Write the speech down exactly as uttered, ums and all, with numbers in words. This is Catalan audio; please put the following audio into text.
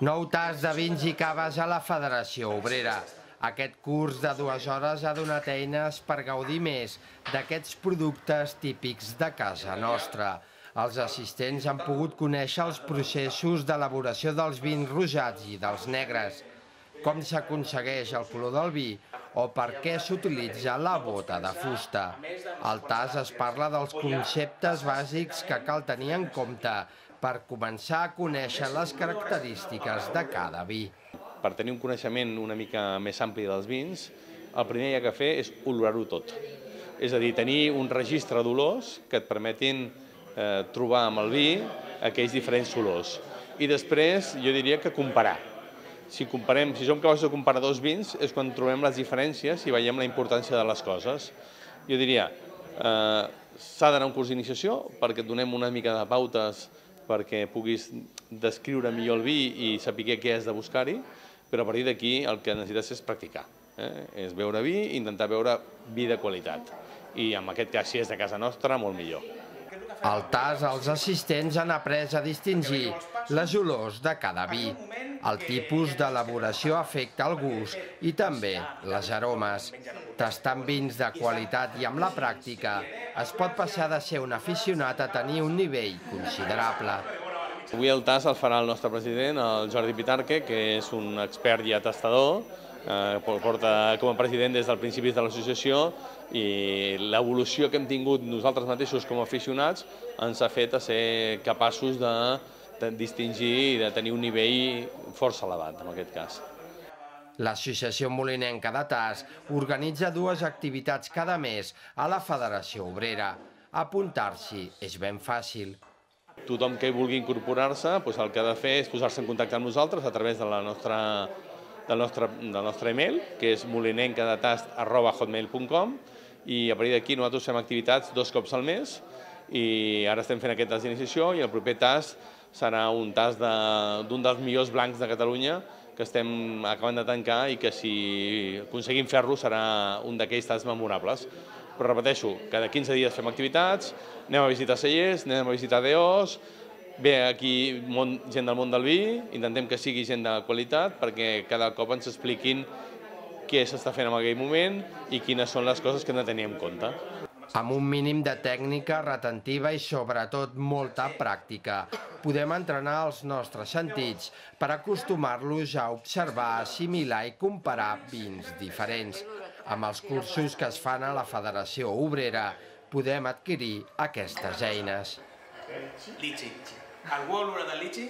Nou tas de vins i caves a la Federació Obrera. Aquest curs de dues hores ha donat eines per gaudir més d'aquests productes típics de casa nostra. Els assistents han pogut conèixer els processos d'elaboració dels vins rosats i dels negres, com s'aconsegueix el color del vi o per què s'utilitza la bota de fusta. Al tas es parla dels conceptes bàsics que cal tenir en compte per començar a conèixer les característiques de cada vi. Per tenir un coneixement una mica més ampli dels vins, el primer que hi ha que fer és olorar-ho tot. És a dir, tenir un registre d'olors que et permetin eh, trobar amb el vi aquells diferents olors. I després jo diria que comparar. Si, comparem, si som capaços de comparar dos vins és quan trobem les diferències i veiem la importància de les coses. Jo diria, eh, s'ha d'anar a un curs d'iniciació perquè et donem una mica de pautes perquè puguis descriure millor el vi i saber què has de buscar-hi, però a partir d'aquí el que necessites és practicar. Eh? És beure vi i intentar beure vi de qualitat. I en aquest cas, si és de casa nostra, molt millor. Al tas, els assistents han après a distingir les olors de cada vi. El tipus d'elaboració afecta el gust i també les aromes. Tastant vins de qualitat i amb la pràctica, es pot passar de ser un aficionat a tenir un nivell considerable. Avui el tas el farà el nostre president, el Jordi Pitarque, que és un expert i atestador, eh, porta com a president des del principi de l'associació, i l'evolució que hem tingut nosaltres mateixos com a aficionats ens ha fet a ser capaços de, de distingir i de tenir un nivell força elevat, en aquest cas. L'Associació Molinenca de Tas organitza dues activitats cada mes a la Federació Obrera. Apuntar-s'hi és ben fàcil. Tothom que vulgui incorporar-se, doncs el que ha de fer és posar-se en contacte amb nosaltres a través de la nostra, del, nostre, del nostre email, que és molinencadatast arroba hotmail punt com, i a partir d'aquí nosaltres fem activitats dos cops al mes i ara estem fent aquest tas d'iniciació i el proper tas serà un tas d'un dels millors blancs de Catalunya que estem acabant de tancar i que si aconseguim fer-lo serà un d'aquells tas memorables. Però repeteixo, cada quinze dies fem activitats, anem a visitar cellers, anem a visitar D Os, ve aquí gent del món del vi, intentem que sigui gent de qualitat perquè cada cop ens expliquin què s'està fent en aquell moment i quines són les coses que hem de tenir en compte. Amb un mínim de tècnica retentiva i sobretot molta pràctica, podem entrenar els nostres sentits per acostumar-los a observar, assimilar i comparar vins diferents. Amb els cursos que es fan a la Federació Obrera podem adquirir aquestes eines. Litxi. Algú olora de litxi?